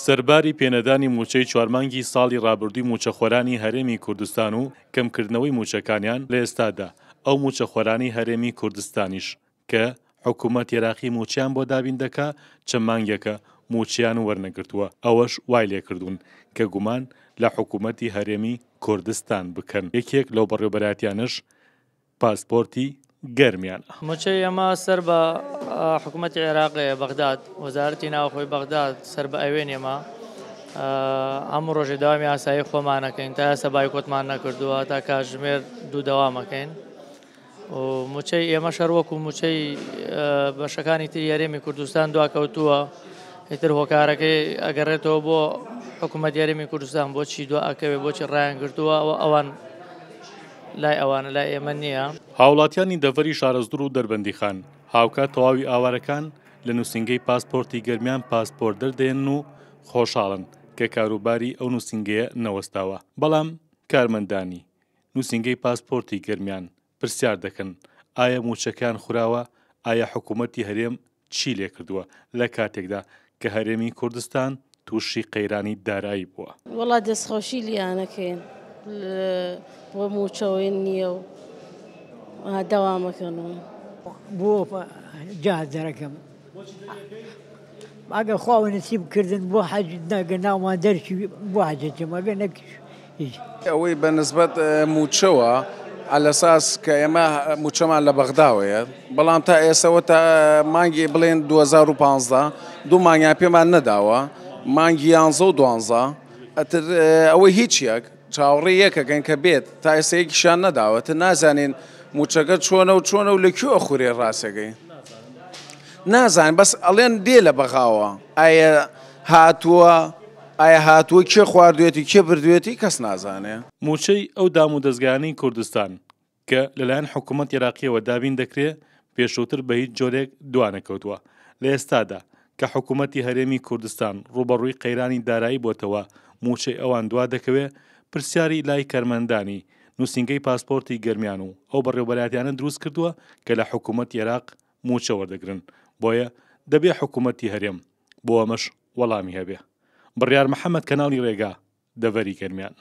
سەرباری پێنەدانی مووچەی چوار مانگی ساڵی رابردووی مووچەخۆرانی هەرێمی کوردستان و کەمکردنەوەی مووچەکانیان، لە ئێستادا ئەو مووچەخۆرانەی هەرێمی کوردستانیش کە حکومەت عێراقی مووچەیان بۆ دابین دەکا چەند مانگێکە مووچەیان وەرنەگرتووە، ئەوەش وای لێکردوون کە گومان لە حکومەتی هەرێمی کوردستان بکەن، یەکێک لەو بەڕێوەبەرایەتیانەش پاسپۆرتی گەرمیانە. موچەی ئێمە سەر بە حکومەتی عێراقەیە بەغداد وەزارەتی ناوخۆی بەغداد سەر بە ئەوێن ئێمە هەموو ڕۆژێ داوامی ئاسایی خۆمانەکەین تا ئێستا بایکۆتمان نەکردووە تا کاتژمێر دوو دەوامەکەین و موچەی ئێمە شەر وەکو موچەی بەشەکانی تری هەرێمی کوردستان دواکەوتووە ئیتر هۆکارەکەی ئەگەڕێتەوە بۆ حکوومەت هەرێمی کوردستان بۆچی دوا ئەکەوێ بۆچی ڕایان گرتووە ئەوان لای ئەوانە لای ئێمە نییە. هاوڵاتیانی دەڤەری شارەزوور و دەربەندیخان، هاوکات تەواوی ئاوارەکان لە نووسینگەی پاسپۆرتی گەرمیان پاسپۆرت دەردەهێنن و خۆشحاڵن کە کاروباری ئەو نووسینگەیە نەوەستاوە، بەڵام کارمەندانی نووسینگەی پاسپۆرتی گەرمیان پرسیار دەکەن ئایا مووچەکەیان خوراوە، ئایا حکوومەتی هەرێم چی لێکردووە لە کاتێکدا کە هەرێمی کوردستان تووشی قەیرانی دارایی بووە؟ وەڵا دەستخۆشی لیانەکەین بۆ مووچەوەی نییە و دەوامەکەن و. بۆ جا دەرەکەم ئەگەر خوا نسیب کردن بۆ حەج نەگە ناومان دەرچی بۆ حەجەکەم ئەگە نەکیش هیچ. ئەوەی بە نسبەت مووچەوە عەلەساس کە ئێمە مووچەمان لە بەغداوەیە بەڵام تا ئێسەوە تا مانگی بڵێن 2015 دوو مانگیان پێمان نەداوە مانگی یانزە و دوانزە ئەتر ئەوەی هیچ یەک چاوەڕێ یەکەکەن کە بێت تا ئێستا یەکیشیان نەداوە تر نازانین مووچەکە چۆنە و چۆنە و لە کوێ ئەخورێ ڕاستەکەی نازانین بەس ئەڵێن دێ لە بەغاوە ئایا هاتووە ئایا هاتووە کێ خواردوێتی کێ بردوێتی کەس نازانێ. مووچەی ئەو دامودەزگایانەی کوردستان کە لەلایەن حکوومەتی عێراقییەوە دابین دەکرێ پێشووتر بە هیچ جۆرێک دوانەکەوتووە. لە ئێستادا کە حکوومەتی هەرێمی کوردستان ڕووبەڕووی قەیرانی دارایی بۆتەوە مووچەی ئەوان دوا دەکەوێ، پرسیاری لای کارمەندانی نووسینگەی پاسپۆرتی گەرمیان و ئەو بەڕێوەبەرایەتیانە دروست کردووە کە لە حکوومەتی عێراق مووچە وەردەگرن، بۆیە دەبێ حکوومەتی هەرێم بۆ ئەمەش وەڵامی هەبێ. بڕیار محەمەد کەناڵی ڕێگا، دەڤەری گەرمیان.